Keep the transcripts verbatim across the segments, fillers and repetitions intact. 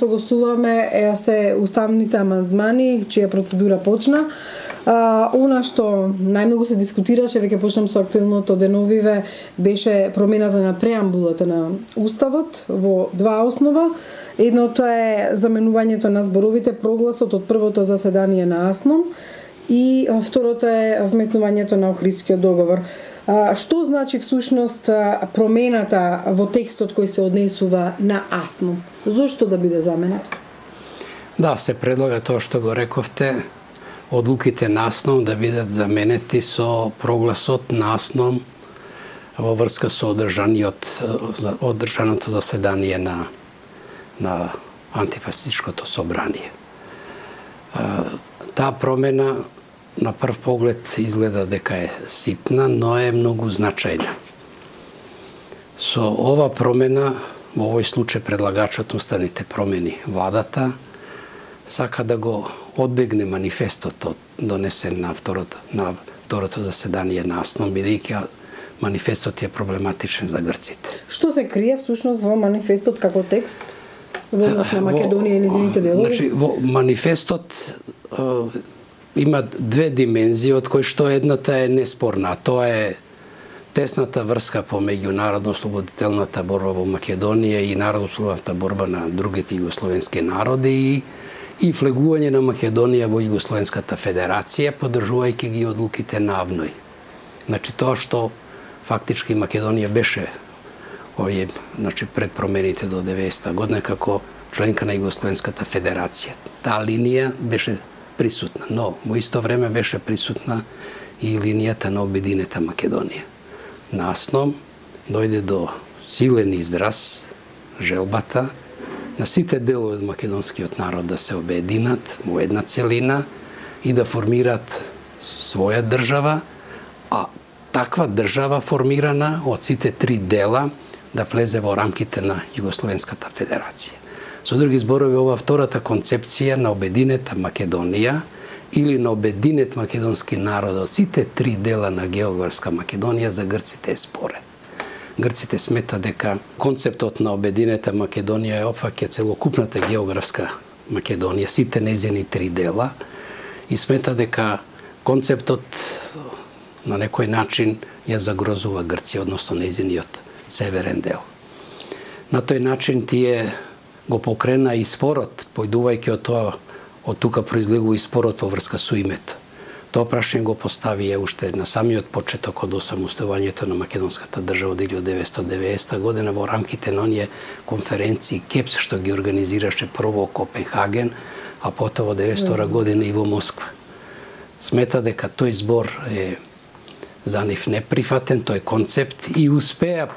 што гостуваме е се уставните амандмани, чија процедура почна. А, она што најмногу се дискутираше, веќе почнам со актуелното деновиве, беше промената на преамбулата на Уставот во два основа. Едното е заменувањето на зборовите прогласот од првото заседание на АСНОМ и второто е вметнувањето на Охридскиот договор. А, што значи всушност промената во текстот кој се однесува на АСНОМ? Зошто да биде заменет? Да, се предлага тоа што го рековте, одлуките на АСНОМ да бидат заменети со прогласот на АСНОМ во врска со одржаниот одржаното заседание на на антифасистичкото собрание. Таа промена на прв поглед изгледа дека е ситна, но е многу значајна. Со ова промена, во овој случај предлагачот уставните промени, владата, сака да го одбегне манифестот донесен на второто, на второто заседание на АСНОМ, бидејќи манифестот е проблематичен за грците. Што се крие всушност во манифестот како текст во однос на Македонија и незините делови? Значи, во манифестот е, има две димензии, од кои што едната е неспорна, тоа е тесната врска помеѓу народно-ослободителната борба во Македонија и народно-ослободителната борба на другите југословенски народи и, и влегување на Македонија во Југословенската федерација, поддржувајќи ги одлуките на АВНОј. Значи тоа што фактички Македонија беше овие, значи пред промените до деветдесета година како членка на Југословенската федерација. Таа линија беше присутна, но во исто време беше присутна и линијата на обединета Македонија. На АСНОМ дојде до силен израз желбата на сите делови од македонскиот народ да се обединат во една целина и да формираат своја држава, а таква држава формирана од сите три дела да влезе во рамките на Југословенската федерација. Со други зборови, ова втората концепција на обединета Македонија или на обединет македонски народ од сите три дела на географска Македонија за грците е спорен. Грците смета дека концептот на обединета Македонија е опфаќа целокупната географска Македонија, сите нејзини три дела, и смета дека концептот на некој начин ја загрозува Грција, односно нејзиниот северен дел. На тој начин тие го покрена и спорот, појдувајќи од тоа, од тука произлегува и спорот во врска со името. Тоа прашање го поставија уште на самиот почеток од осамостојувањето на македонската држава од илјадесетстотини и деветдесета година во рамките на оние конференции КЕПС што ги организираше прво во Копенхаген, а потоа во деветдесета и втора година и во Москва. Смета дека тој збор е за нив неприфатен, тој концепт, и успеа,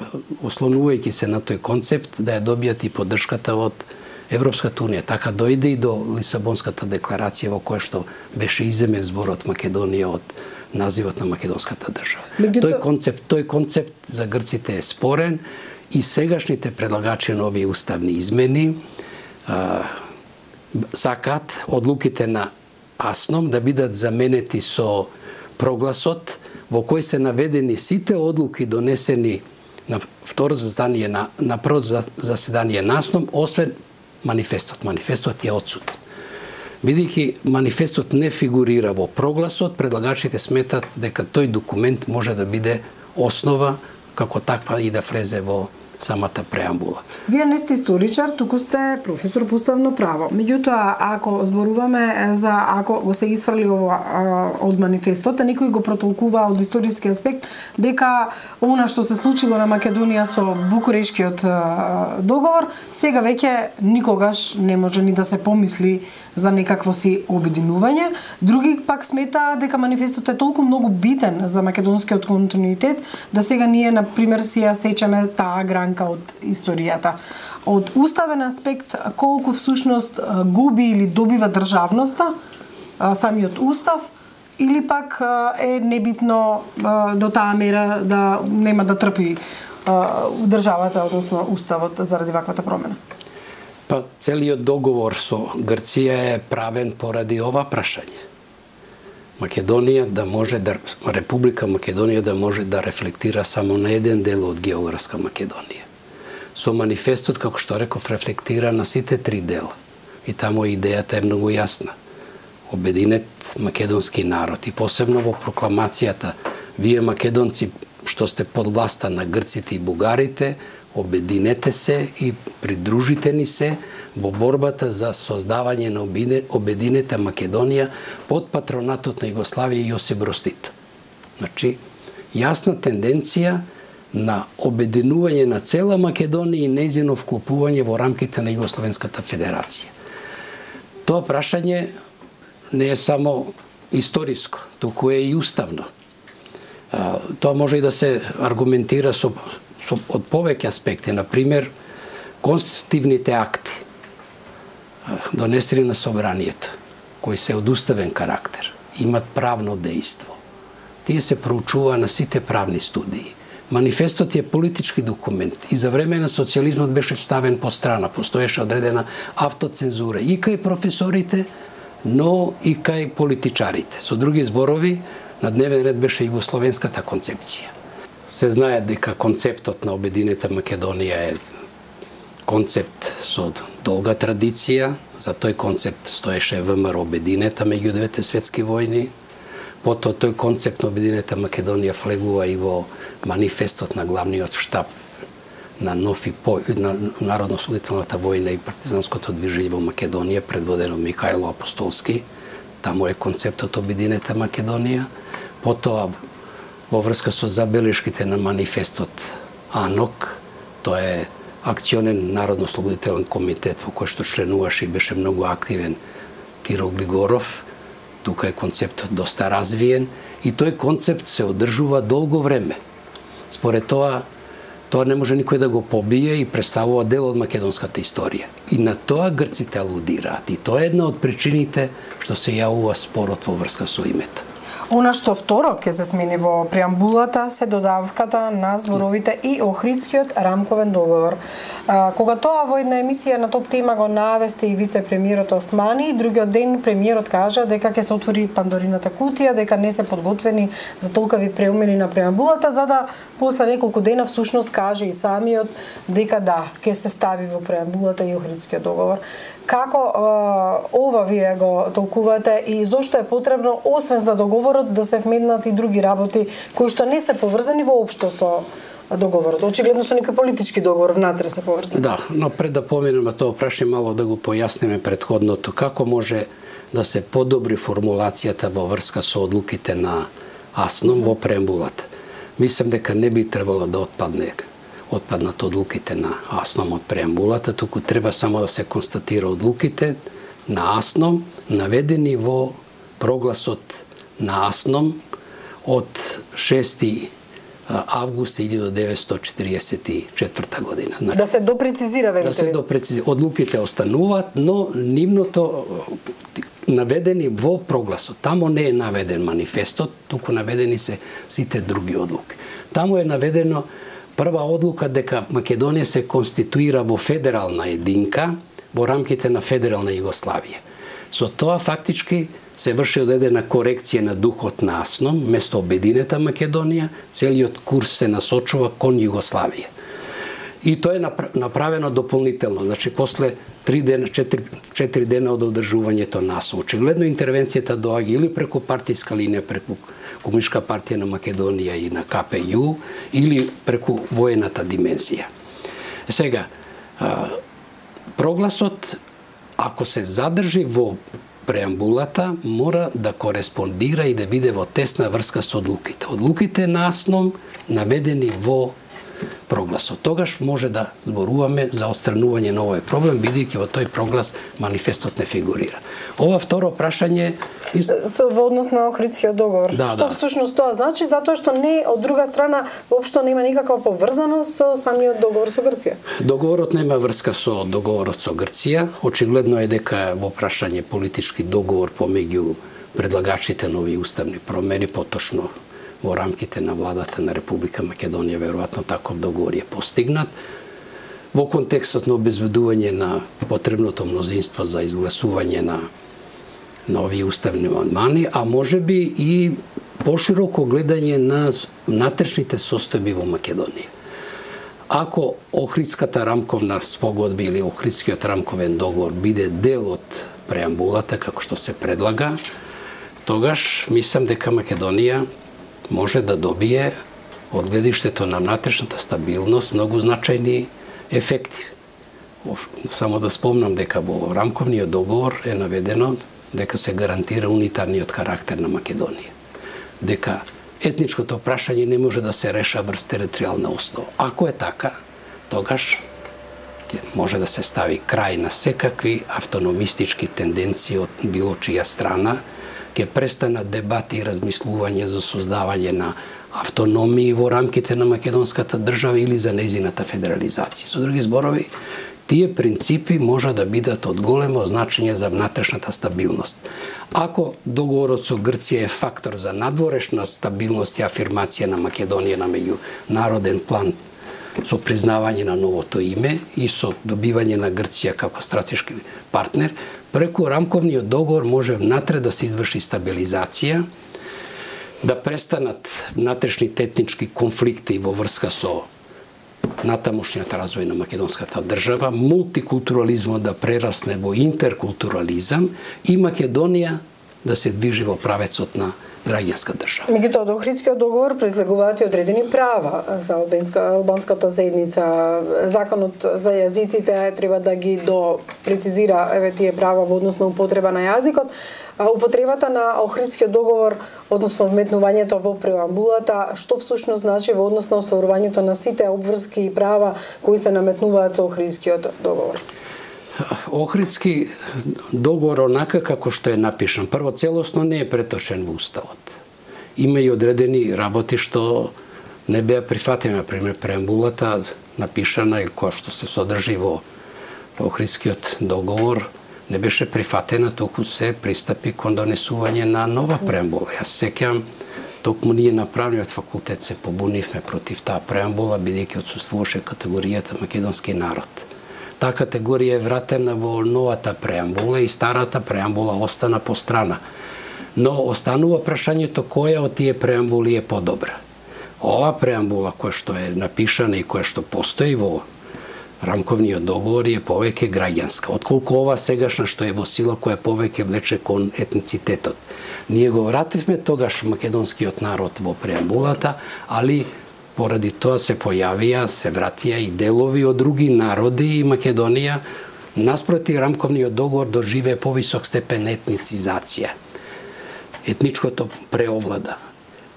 ослонувајќи се на тој концепт, да ја добијат и поддршката од Европската унија. Така дојде и до Лисабонската декларација во која што беше иземен зборот Македонија од називот на македонската држава. Мегуто... Тој концепт, тој концепт за грците е спорен и сегашните предлагачи на овие уставни измени а, сакаат одлуките на АСНОМ да бидат заменети со прогласот во кој се наведени сите одлуки донесени на второто заседание на на првото заседание на АСНОМ, освен манифестот. Манифестот е отсутен. Бидејќи манифестот не фигурира во прогласот, предлагачите сметат дека тој документ може да биде основа како таква и да влезе во самата преамбула. Вие не сте историчар, туку сте професор по уставно право. Меѓутоа, ако зборуваме за ако го се исфрли ово а, од манифестот, а некој го протолкува од историски аспект дека она што се случило на Македонија со Букурешкиот а, договор, сега веќе никогаш не може ни да се помисли за некакво си обединување. Други пак смета дека манифестот е толку многу битен за македонскиот континуитет да сега ние на пример си ја сечеме таа гранка од историјата. Од уставен аспект, колку всушност губи или добива државноста самиот устав, или пак е небитно до таа мера да нема да трпи државата, односно уставот, заради ваквата промена? Па целиот договор со Грција е правен поради ова прашање. Македонија да може да Република Македонија да може да рефлектира само на еден дел од географска Македонија. со манифестот, како што реков, рефлектира на сите три дела. И таму идејата е многу јасна. Обединет македонски народ и посебно во прокламацијата вие македонци што сте под власта на грците и бугарите, обединете се и придружите ни се во борбата за создавање на обединета Македонија под патронатот на Југославија и Јосип Брз Тито. Значи, јасна тенденција на обединување на цела Македонија и нејзино вклопување во рамките на Југословенската федерација. Тоа прашање не е само историско, туку е и уставно. Тоа може и да се аргументира со, со, од повеќе аспекти. Например, конститутивните акти донесени на собранието, кои се од уставен карактер, имат правно дејство. Тие се проучува на сите правни студии. Манифестот е политички документ и за време на социјализмот беше ставен по страна, постоеше одредена автоцензура и кај професорите, но и кај политичарите. Со други зборови, на дневен ред беше југословенската концепција. Се знае дека концептот на обединета Македонија е концепт со долга традиција. За тој концепт стоеше ВМРО обединета меѓу двете светски војни. Потоа тој концепт на обединета Македонија влегува и во манифестот на главниот штаб на НОФ и по, на Народно-ослободителната војна и партизанското движење во Македонија, предводено Михајло Апостолски. Таму е концептот обединета Македонија. Потоа, во врска со забелешките на манифестот АНОК, тоа е акционен Народно-ослободителен комитет во кој што членуваше и беше многу активен Киро Глигоров. Тука е концептот доста развиен и тој концепт се одржува долго време. Според тоа, тоа не може никој да го побие и представува дел од македонската историја. И на тоа грците алудираат. И тоа е една од причините што се јавува спорот во врска со името. Она што второ ќе се смени во преамбулата се додавката на зборовите и Охридскиот рамковен договор. А, кога тоа во една емисија на топ тема го навести и вице-премиерот Османи, другиот ден премиерот кажа дека ќе се отвори Пандорината кутија, дека не се подготвени за толкави преумени на преамбулата, за да после неколку дена всушност каже и самиот дека да, ќе се стави во преамбулата и Охридскиот договор. Како а, ова вие го толкувате и зошто е потребно, освен за договорот, да се вмеднат и други работи кои што не се поврзани воопшто со договорот? Очигледно со некој политички договор внатре се поврзани. Да, но пред да поминеме тоа прашање мало да го појасниме претходното, како може да се подобри формулацијата во врска со одлуките на АСНОМ во преамбулата. Мислам дека не би требало да отпадне отпаднат одлуките на АСНОМ од преамбулата, туку треба само да се констатира одлуките на АСНОМ наведени во прогласот на АСНОМ од шести август илјадум деветстотини четиридесет и четврта година. Значи, да се допрецизира, велите. Да се допрецизира. Одлуките остануваат, но нивното наведени во прогласот. Тамо не е наведен манифестот, туку наведени се сите други одлуки. Тамо е наведено прва одлука дека Македонија се конституира во федерална единка во рамките на федерална Југославија. Со тоа фактички се врши одредена корекција на духот на АСНОМ, место обединета Македонија, целиот курс се насочува кон Југославија. И тоа е направено дополнително, значи после три дена, четири, четири дена од одржувањето на АСНОМ. Очигледно интервенцијата доаѓа или преку партиска линија, преку Комунистичка партија на Македонија и на КПЈ, или преку воената димензија. Сега, прогласот, ако се задржи во преамбулата, мора да кореспондира и да биде во тесна врска со одлуките. Одлуките на АСНОМ наведени во прогласот. Тогаш може да зборуваме за отстранување на овој проблем, бидејќи во тој проглас манифестот не фигурира. Ова второ прашање со во однос на Охридскиот договор. Да, што да. всушност тоа значи? Затоа што не од друга страна воопшто нема никаква поврзаност со самиот договор со Грција. Договорот нема врска со договорот со Грција. Очигледно е дека во прашање политички договор помеѓу предлагачите нови уставни промени, поточно во рамките на владата на Република Македонија, веројатно таков договор е постигнат. Во контекстот на обезбедување на потребното мнозинство за изгласување на нови уставни амандмани, а може би и пошироко гледање на внатрешните состојби во Македонија. Ако Охридската рамковна спогодба или Охридскиот рамковен договор биде дел од преамбулата, како што се предлага, тогаш мислам дека Македонија може да добие од гледиштето на внатрешната стабилност многу значајни ефекти. Само да спомнам дека во рамковниот договор е наведено дека се гарантира унитарниот карактер на Македонија. Дека етничкото прашање не може да се реша врз територијална основа. Ако е така, тогаш може да се стави крај на секакви автономистички тенденции од било чија страна, ќе престанат дебати и размислување за создавање на автономии во рамките на македонската држава или за нејзината федерализација. Со други зборови, тие принципи може да бидат од големо значење за внатрешната стабилност. Ако договорот со Грција е фактор за надворешна стабилност и афирмација на Македонија на меѓународен план со признавање на новото име и со добивање на Грција како стратешки партнер, преку рамковниот договор може внатре да се изврши стабилизација, да престанат внатрешните етнички конфликти во врска со натамошниот развој на македонската држава, мултикултурализмот да прерасне во интеркултурализам и Македонија да се движи во правецот на граѓанска држава. Меѓутоа, од Охридскиот договор произлегуваат и одредени права за албанската заедница. Законот за јазиците треба да ги до прецизира еве тие права во однос на употреба на јазикот. Употребата на Охридскиот договор, односно вметнувањето во преамбулата, што всушност значи во однос на остварувањето на сите обврски и права кои се наметнуваат со Охридскиот договор? Охридски договор онака како што е напишан, прво целосно не е преточен во Уставот. Има и одредени работи што не беа прифатени, например преамбулата напишана или која што се содржи во Охридскиот договор не беше прифатена, току се пристапи кон донесување на нова преамбула. Јас сеќавам, токму ние на правниот факултет се побунивме против таа преамбула, бидејќи отсуствуваше категоријата македонски народ. Таа категорија е вратена во новата преамбула и старата преамбула остана по страна. Но останува прашањето која од тие преамбули е подобра. Ова преамбула која што е напишана и која што постои во рамковниот договор е повеќе граѓанска, отколку ова сегашна што е во сила која повеќе влече кон етницитетот. Ние го вративме тогаш македонскиот народ во преамбулата, али поради тоа се појавија, се вратија и делови од други народи и Македонија наспроти рамковниот договор доживее повисок степен етницизација. Етничкото преовлада.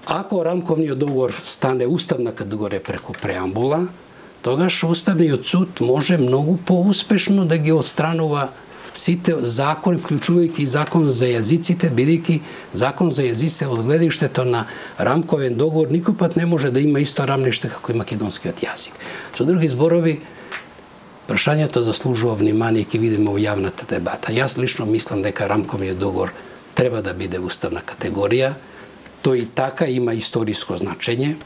Ако рамковниот договор стане уставна категорија преку преамбула, тогаш Уставниот суд може многу поуспешно да ги отстранува сите закони, вклучувајќи и закон за јазиците, бидејќи закон за јазиците од гледиштето на рамковен договор никој пат не може да има исто рамниште како и македонскиот јазик. Со други зборови, прашањето заслужува внимание и ќе видиме во јавната дебата. Јас лично мислам дека рамковниот договор треба да биде уставна категорија. Тој и така има историско значење.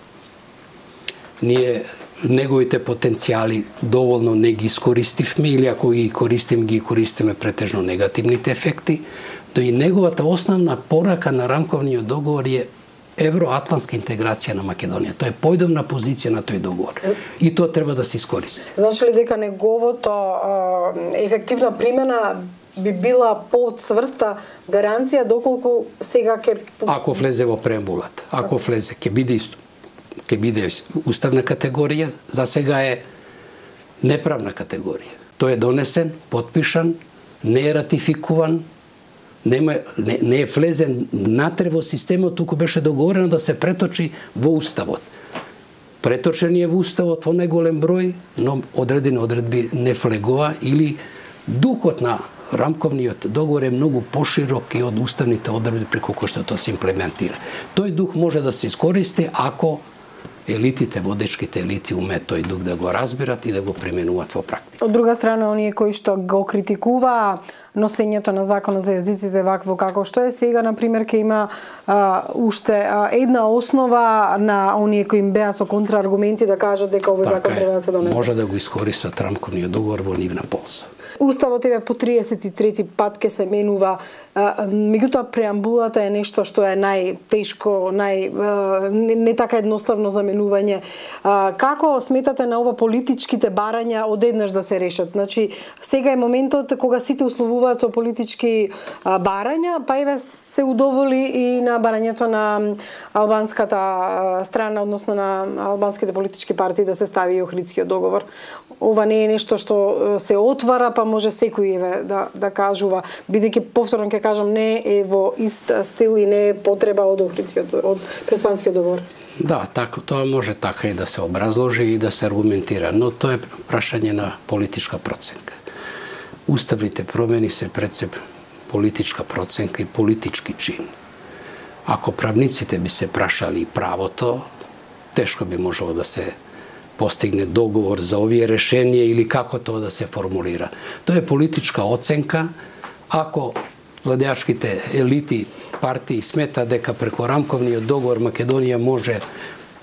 Ние неговите потенцијали доволно не ги искористивме или ако ги користим, ги користиме претежно негативните ефекти, но и неговата основна порака на рамковниот договор е евроатлантска интеграција на Македонија. Тоа е појдовна позиција на тој договор и тоа треба да се искористи. Значи ли дека неговото ефективна примена би била поцврста гаранција доколку сега ќе... Ако влезе во преамбулата, ако влезе, ќе биде исто. Ќе биде уставна категорија, за сега е неправна категорија. Тој е донесен, подпишан, не е ратификуван, нема, не, не е влезен натре во системот, туку беше договорено да се преточи во Уставот. Преточен е во Уставот во најголем број, но одредени одредби не влегува или духот на рамковниот договор е многу поширок и од уставните одредби преку кои што тоа се имплементира. Тој дух може да се искористи ако елитите, водечките елити умеат тој дух да го разбират и да го применуваат во практика. Од друга страна, оние кои што го критикуваа носењето на законот за јазиците вакво како што е сега, например, ќе има а, уште а, една основа на оние кои им беа со контрааргументи да кажат дека овој така закон е, треба да се донесе. Може да го искористат рамковниот договор во нивна полза. Уставот еве по триесет и трети пат ќе се менува, меѓутоа преамбулата е нешто што е најтешко, нај не, не така едноставно за менување. Како сметате на ова политичките барања одеднаш да се решат? Значи, сега е моментот кога сите условуваат со политички барања, па еве се удоволи и на барањето на албанската страна, односно на албанските политички партии да се стави и Охридскиот договор. Ова не е нешто што се отвара, па може секој еве да да кажува, бидејќи повторно ќе кажам, не е во ист стил и не е потреба од Охридскиот, од Преспанскиот договор. Да, така, тоа може така и да се образложи и да се аргументира, но тоа е прашање на политичка проценка. Уставните промени се пред се политичка проценка и политички чин. Ако правниците би се прашали правото, тешко би можело да се постигне договор за овие решенија или како тоа да се формулира. Тоа е политичка оценка. Ако владеачките елити, партии смета дека преку рамковниот договор Македонија може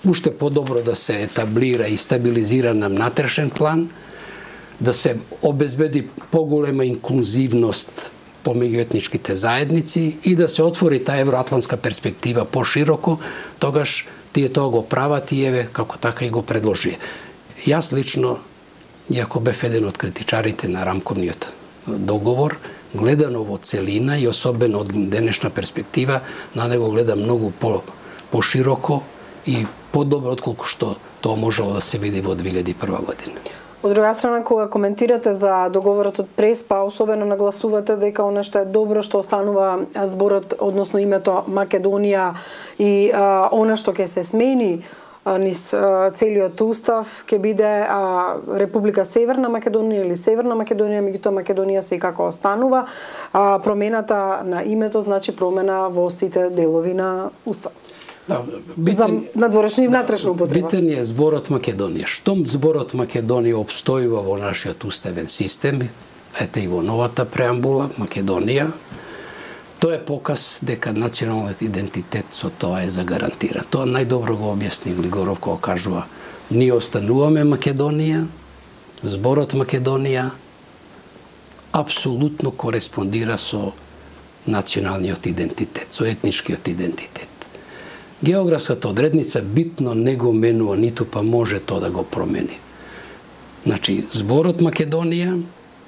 уште подобро да се етаблира и стабилизира на внатрешен план, да се обезбеди поголема инклузивност помеѓу етничките заедници и да се отвори таа евроатлантска перспектива пошироко, тогаш тие тоа го прават и еве како така и го предложи. Јас лично, иако бев еден од критичарите на рамковниот договор, гледано во целина и особено од денешна перспектива, на него гледам многу по пошироко и подобро отколку што тоа можело да се види во две илјади и прва година. Од друга страна, кога коментирате за договорот од Преспа, особено нагласувате дека она што е добро што останува зборот, односно името Македонија и а, она што ќе се смени а, низ а, целиот устав ќе биде а, Република Северна Македонија или Северна Македонија, меѓутоа Македонија секако останува. А, промената на името значи промена во сите делови на уставот. Да, битен, за надворешна и внатрешна употреба. Битен е зборот Македонија. Штом зборот Македонија обстојува во нашиот уставен систем, ете и во новата преамбула Македонија, тоа е показ дека националниот идентитет со тоа е загарантиран. Тоа најдобро го објасни Глигоров кога кажува: ние остануваме Македонија, зборот Македонија апсолутно кореспондира со националниот идентитет, со етничкиот идентитет. Географската одредница битно не го менува, ниту па може тоа да го промени. Значи, зборот Македонија,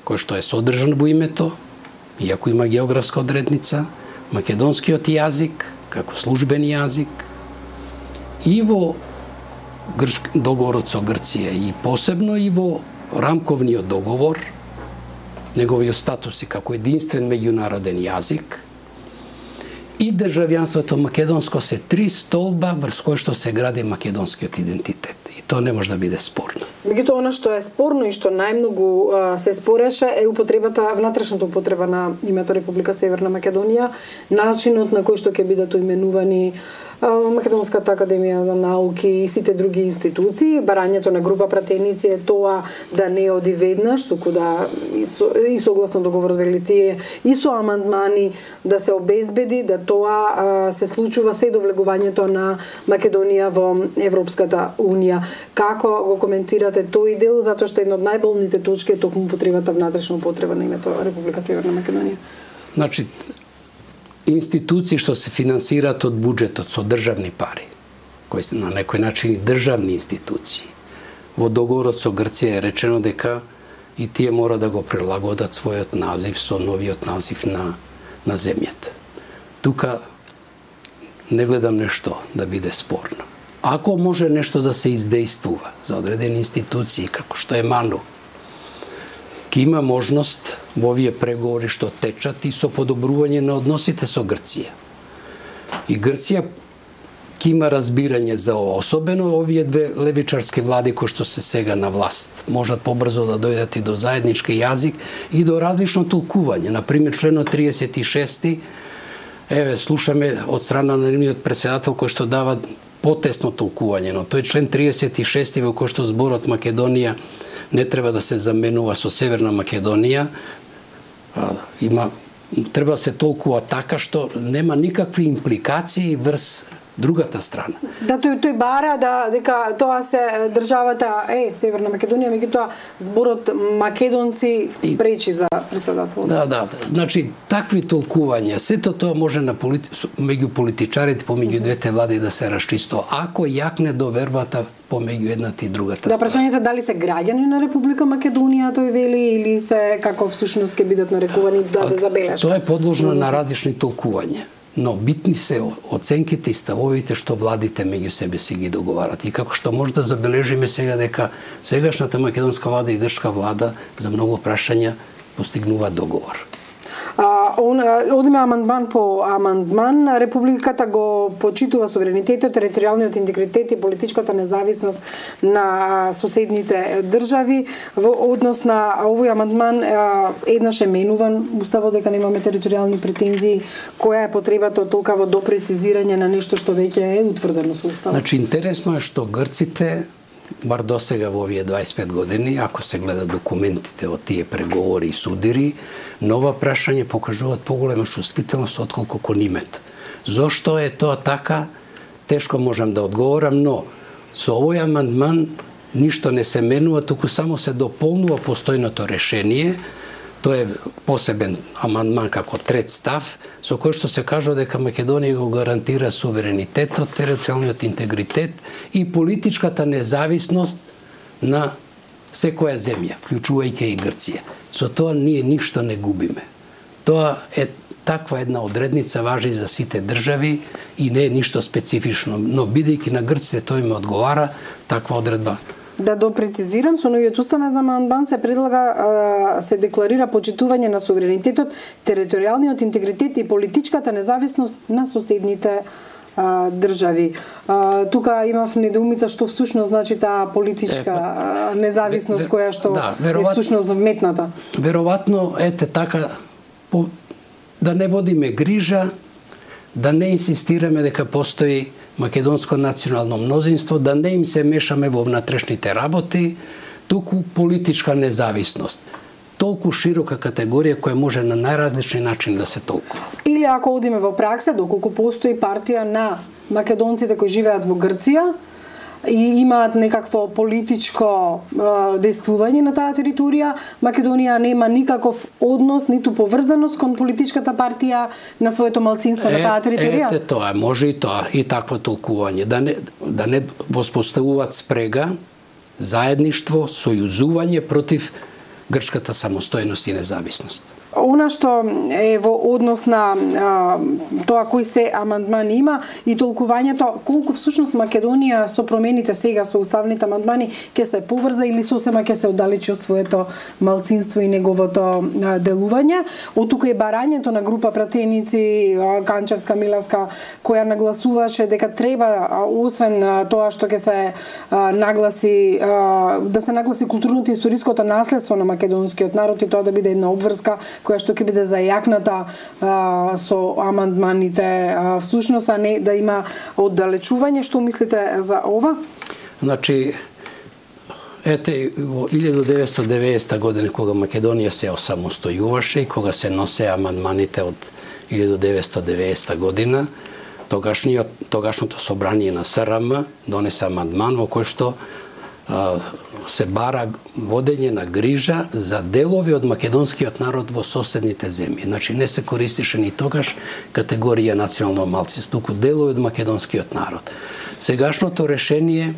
кој што е содржан во името, иако има географска одредница, македонскиот јазик, како службен јазик, и во грчк, договорот со Грција, и посебно и во рамковниот договор, неговиот статус како единствен меѓународен јазик, и државјанството македонско се три столба врз кои што се гради македонскиот идентитет. И тоа не може да биде спорно. Меѓутоа, она што е спорно и што најмногу а, се спореше е употребата, внатрешната употреба на името Република Северна Македонија, начинот на кој што ќе бидат именувани Македонската академија за науки и сите други институции. Барањето на група пратеници е тоа да не оди веднаш, туку да и, со, и согласно договорот вели тие и со амандмани да се обезбеди да тоа а, се случува се до влегувањето на Македонија во Европската унија. Како го коментирате тој дел, затоа што една од најболните точки е токму потребата внатрешна употреба на името Република Северна Македонија? Значи, институции што се финансираат од буџетот со државни пари, кои се на некој начин и државни институции. Во договорот со Грција е речено дека и тие мора да го прилагодат својот назив со новиот назив на, на земјата. Тука не гледам нешто да биде спорно. Ако може нешто да се издействува за одредени институции, како што е МАНУ, ќе има можност во овие преговори што течат и со подобрување на односите со Грција. И Грција ќе има разбирање за ова, особено овие две левичарски влади кои што се сега на власт. Можат побрзо да дојдат и до заеднички јазик и до различно толкување. Например, членот триесет и шести, еве, слушаме од страна на нивниот претседател кој што дава потесно толкување, но тој член триесет и шести во кој што зборот Македонија не треба да се заменува со Северна Македонија, а, има треба да се толкува така што нема никакви импликации врз другата страна. Да, тој тој бара да дека тоа се државата е Северна Македонија, меѓутоа зборот македонци и пречи за председател. Да, да, да. Значи такви толкувања, сето тоа може на полити... меѓу политичарите помеѓу двете влади да се расчисто, ако јакне довербата помеѓу едната и другата да, страна. Да, прашањето дали се граѓани на Република Македонија, тој вели, или се како всушност ќе бидат нарекувани да да забележат. Тоа е подложно на различни толкувања. Но битни се оценките и ставовите што владите меѓу себе си ги договарат. И како што може да забележиме сега дека сегашната македонска влада и грчка влада за многу прашања постигнува договор. А, он, одиме амандман по амандман. Републиката го почитува суверенитетот, територијалниот интегритет и политичката независност на соседните држави. Во однос на овој амандман еднаш е менуван уставот дека немаме територијални претензии. Која е потребата од толкаво допрецизирање на нешто што веќе е утврдено со уставот? Значи интересно е што грците бар досега во овие дваесет и пет години, ако се гледа документите од тие преговори и судири, нова прашање покажуваат поголема чувствителност отколку кон името. Зошто е тоа така? Тешко можам да одговорам, но со овој амандман ништо не се менува, туку само се дополнува постојното решение. Тоа е посебен амандман како трет став, со кој што се кажува дека Македонија го гарантира суверенитетот, територијалниот интегритет и политичката независност на секоја земја, вклучувајќи и Грција. Со тоа ние ништо не губиме. Тоа е таква една одредница важи за сите држави и не е ништо специфично, но бидејќи на грците тоа им одговара, таква одредба. Да допрецизирам, со новиот уставен амандман се предлага се декларира почитување на суверенитетот, територијалниот интегритет и политичката независност на соседните а, држави. А, тука имав недоумица што всушност значи таа политичка а, независност која што да, е всушност вметната. Веројатно ете така по, да не водиме грижа, да не инсистираме дека постои македонско национално мнозинство, да не им се мешаме во внатрешните работи, туку политичка независност. Толку широка категорија која може на најразлични начини да се толкува. Или ако одиме во пракса, доколку постои партија на македонците кои живеат во Грција и имаат некакво политичко е, действување на таа територија, Македонија нема никаков однос, ниту поврзаност кон политичката партија на своето малцинство е, на таа територија? Ете тоа, може и тоа, и такво толкување. Да не, да не воспоставуваат спрега, заедништво, сојузување против грчката самостојност и независност. Она што е во однос на а, тоа кои се амандмани има и толкувањето, колку всушност Македонија со промените сега со уставните амандмани ќе се поврза или сосема ќе се оддалечи од своето малцинство и неговото а, делување. Од тука е барањето на група пратеници а, Канчевска, Милевска, која нагласуваше дека треба, а, освен а, тоа што ќе се а, нагласи, а, да се нагласи културното и историското наследство на македонскиот народ и тоа да биде една обврска која што ќе биде зајакната а, со амандманите а, всушност, а не да има оддалечување. Што мислите за ова? Значи, ете, во илјадум деветстотини и деветдесета година, кога Македонија се осамостојуваше и кога се носе амандманите од илјадум деветстотини и деветдесета година, тогашниот, тогашното собрание на СРМ донесе амандман во кој што а, се бара водење на грижа за делови од македонскиот народ во соседните земји. Значи не се користише ни тогаш категорија национално малцинство, туку делови од македонскиот народ. Сегашното решение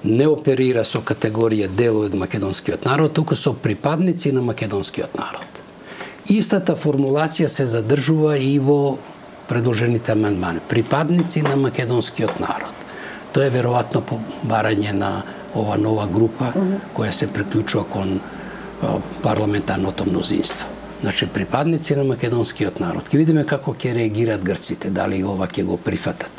не оперира со категорија делови од македонскиот народ, туку со припадници на македонскиот народ. Истата формулација се задржува и во предложените амандмани. Припадници на македонскиот народ. Тоа е веројатно по барање на ова нова група која се приклучува кон парламентарното мнозинство. Значи, припадници на македонскиот народ. Ке видиме како ќе реагираат грците, дали ова ќе го прифатат.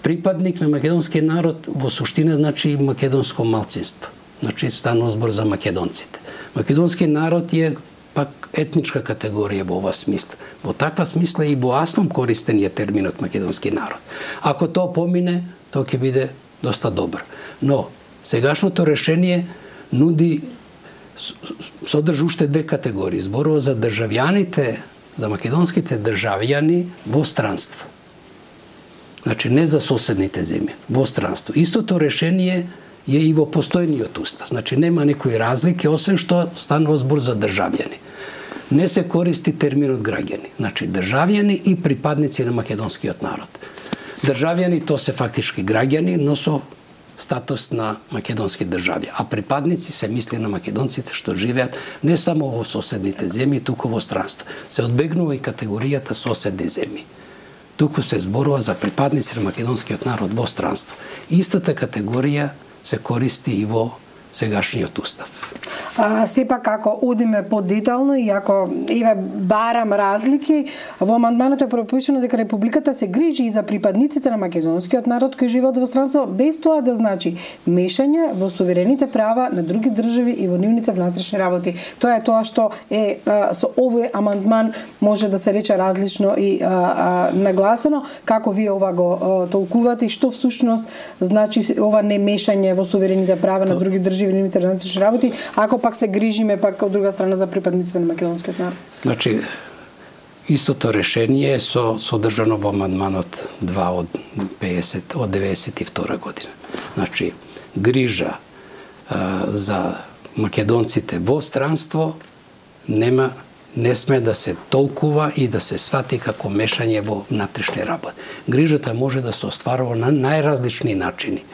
Припадник на македонскиот народ во суштина значи и македонско малцинство. Значи, станува збор за македонците. Македонскиот народ е пак етничка категорија во ова смисла. Во таква смисла и во аслом користен е терминот македонски народ. Ако тоа помине, тоа ќе биде доста добро. Но сегашното решение нуди содржи уште две категории. Зборува за државјаните, за македонските државјани во странство. Значи, не за соседните земји, во странство. Истото решение е и во постојниот устав. Значи, нема некои разлики, освен што станува збор за државјани. Не се користи терминот граѓани. Значи, државјани и припадници на македонскиот народ. Државјани то се фактички граѓани, но со статус на македонски држави. А припадници се мисли на македонците што живеат не само во соседните земји, туку во странство. Се одбегнува и категоријата соседни земји. Туку се зборува за припадници на македонскиот народ во странство. Истата категорија се користи и во сегашниот устав. А, сепак, ако одиме подетално и ако еве барам разлики, во амандманот е пропишано дека Републиката се грижи и за припадниците на македонскиот народ кои живеат во странство, без тоа да значи мешање во суверените права на други држави и во нивните внатрешни работи. Тоа е тоа што е а, со овој амандман може да се рече различно и а, а, нагласено. Како вие ова го а, толкувате и што всушност значи ова не мешање во суверените права на други држави и нивните внатрешни работи, ако пак се грижиме пак од друга страна за припадниците на македонскиот народ? Значи, истото решение е со содржано во амандманот два од педесет од деветдесет и втора година. Значи, грижа а, за македонците во странство нема не сме да се толкува и да се свати како мешање во внатрешни работи. Грижата може да се остварува на најразлични начини.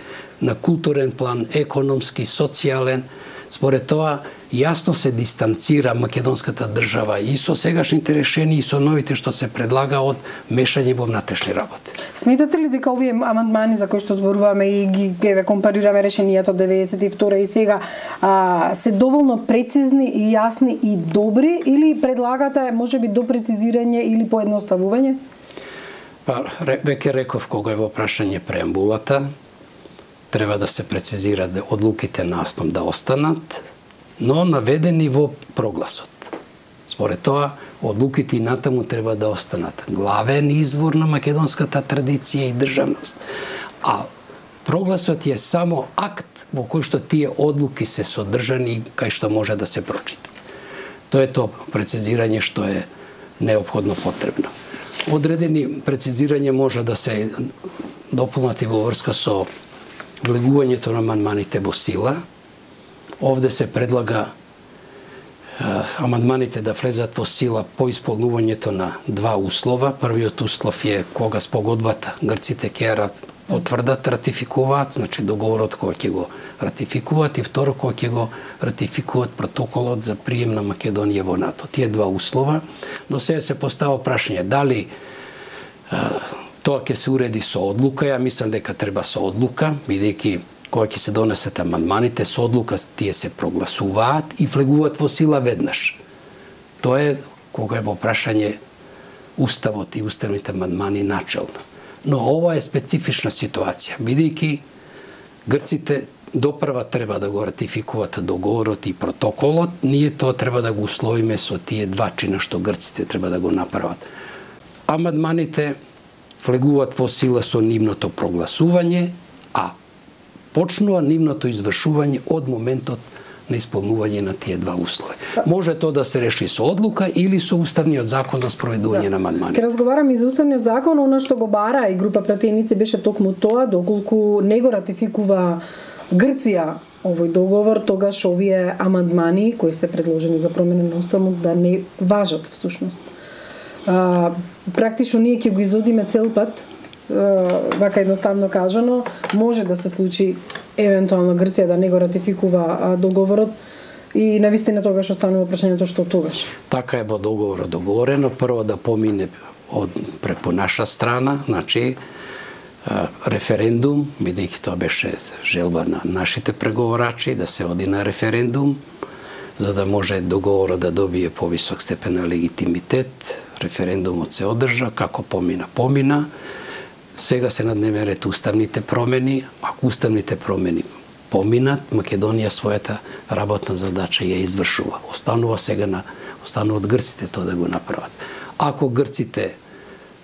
На културен план, економски, социјален. Според тоа, јасно се дистанцира македонската држава и со сегашните решенија и со новите што се предлага од мешање во внатрешни работи. Сметате ли дека овие амандмани за кои што зборуваме и ги еве компарираме решенијата од деветдесет и втора и сега а, се доволно прецизни и јасни и добри, или предлагате можеби до прецизирање или поедноставување? Па, веќе реков кога е во прашање преамбулата, треба да се прецизира да одлуките на основ да останат, но наведени во прогласот. Според тоа, одлуките и натаму треба да останат главен извор на македонската традиција и државност. А прогласот е само акт во кој што тие одлуки се содржани кај што може да се прочитат. Тоа е тоа прецизирање што е неопходно потребно. Одредени прецизирање може да се дополнати во врска со влегувањето на амандманите во сила. Овде се предлага а, амандманите да влезат во сила по исполнувањето на два услова. Првиот услов е кога спогодбата грците ќе ја потврдат, ратификуваат, значи договорот кој ќе го ратификуваат, и второ кој ќе го ратификуваат протоколот за прием на Македонија во НАТО. Тие два услова, но сега се постава прашање дали а, тоа ќе се уреди со одлука. Ја мислам дека треба со одлука, бидејќи кога ќе се донесат амандманите, со одлука тие се прогласуваат и влегуваат во сила веднаш. Тоа е кога е во прашање уставот и уставните амандмани начелно. Но ова е специфична ситуација, бидејќи грците допрва треба да го ратификуваат договорот и протоколот, ние тоа треба да го условиме со тие два чина што грците треба да го направат. Амандманите влегуваат во сила со нивното прогласување, а почнува нивното извршување од моментот на исполнување на тие два услови. Може тоа да се реши со одлука или со уставниот закон за спроведување да. на амандмани. Ке разговарам и за уставниот закон, она што го бара и група пратеници беше токму тоа, доколку не го ратификува Грција овој договор, тогаш овие амандмани кои се предложени за промена на уставот да не важат всушност. А, практично ние ќе го изодиме цел пат, а, вака едноставно кажано, може да се случи евентуално Грција да не го ратификува а, договорот и навистина тогаш останува прашањето што тогаш. Така е во договорот договорено, прво да помине од преку наша страна, значи референдум, бидејќи тоа беше желба на нашите преговарачи да се оди на референдум, за да може договорот да добие повисок степен на легитимитет. Референдумот се одржа, како помина, помина. Сега се на дневен ред уставните промени. Ако уставните промени поминат, Македонија својата работна задача ја извршува. Останува сега на останува од грците тоа да го направат. Ако грците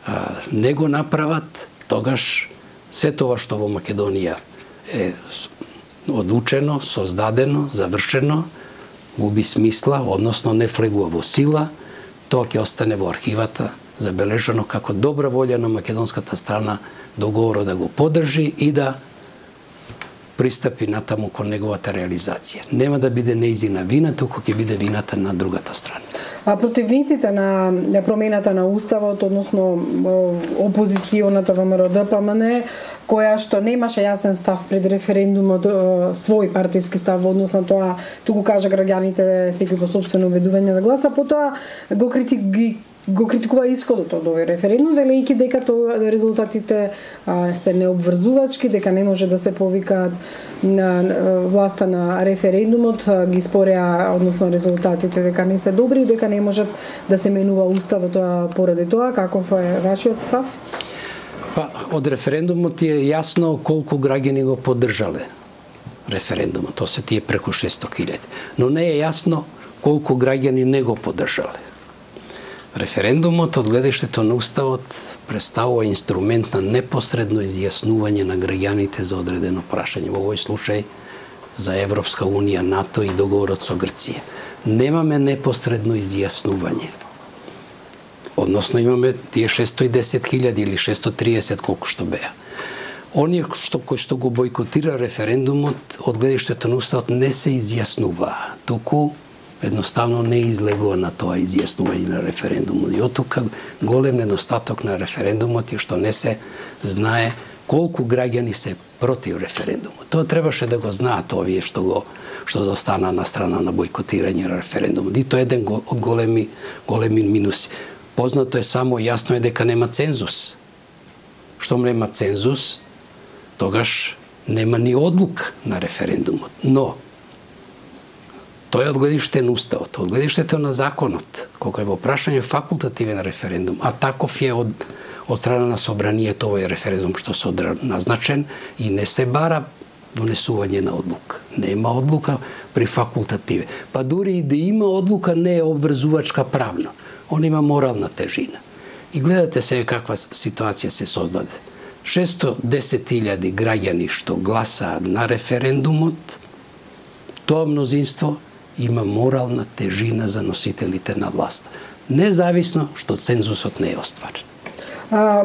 а, не го направат, тогаш се тоа што во Македонија е одлучено, создадено, завршено, губи смисла, односно не влегува во сила, тоа ќе остане во архивата забележано како добра волја на македонската страна договорот да го поддржи и да пристапи натаму кон неговата реализација. Нема да биде неизина вина, туку ќе биде вината на другата страна. А противниците на, на промената на уставот, односно опозиционата ВМРО-ДПМН, која што немаше јасен став пред референдумот, свој партиски став во однос на тоа, туку кажа граѓаните секој по сопствено убедување да гласа, потоа го критики го критикува исходот од овој референдум, велејќи дека тоа резултатите а, се необврзувачки, дека не може да се повикаат на, на власта на референдумот, а, ги спореа, односно резултатите дека не се добри, дека не можат да се менува уставот поради тоа. Каков е вашиот став? Па, од референдумот е јасно колку граѓани го поддржале референдумот, тоа се тие преку шесто илјади. Но не е јасно колку граѓани не го поддржале. Референдумот од гледиштето на уставот представува инструмент на непосредно изјаснување на граѓаните за одредено прашање, во овој случај за Европска унија, НАТО и договорот со Грција. Немаме непосредно изјаснување. Односно имаме тие шесто и десет илјади или шесто и триесет колку што беа. Оние што кои што го бојкотира референдумот од гледиштето на уставот не се изјаснуваа, туку едноставно не излегува на тоа изјаснување на референдумот. И оттука голем недостаток на референдумот е што не се знае колку граѓани се против референдумот. Тоа требаше да го знаат овие што го што застана на страна на бојкотирање на референдумот. И тоа е еден од големи големи минуси. Познато е само, јасно е дека нема цензус. Штом нема цензус, тогаш нема ни одлука на референдумот. Но тоа е од гледиште на уставот, од гледиштето на законот, кога е во прашање факултативен референдум, а таков е од, од страна на собранието овој референдум што се назначен и не се бара донесување на одлука. Нема одлука при факултативе. Па дури и да има одлука, не е обврзувачка правно. Он има морална тежина. И гледате се каква ситуација се создаде. шесто и десет илјади граѓани што гласаат на референдумот, тоа мнозинство има морална тежина за носителите на власт. Независно што цензусот не е остварен. А,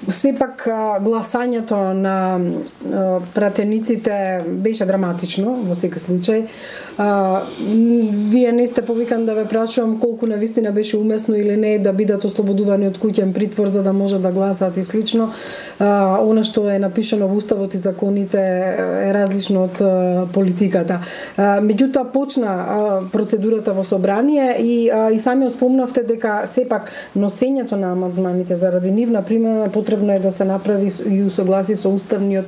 сепак гласањето на а, пратениците беше драматично во секој случај. А, вие не сте повикан да ве прашувам колку навистина беше умесно или не да бидат ослободувани од куќен притвор за да можат да гласаат и слично. А, она што е напишано во уставот и законите е различно од а, политиката. А, меѓутоа почна а, процедурата во собрание и а, и самиот спомнавте дека сепак носењето на амандманите заради нивна примена потребно е да се направи и усогласи со уставниот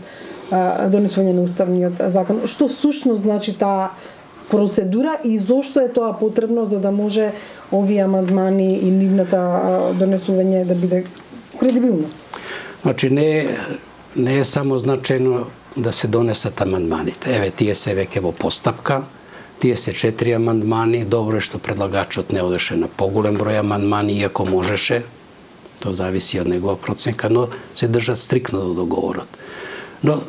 а, донесување на уставниот закон. Што всушност значи таа процедура и зошто е тоа потребно за да може овие амандмани и нивната донесување да биде кредибилно? Значи не не е само значено да се донесат амандманите. Еве тие се веќе во постапка. Тие се четири амандмани. Добро е што предлагачот не одеше на поголем број амандмани, иако можеше. Тоа зависи од негова проценка, но се држат стрикно до договорот. Но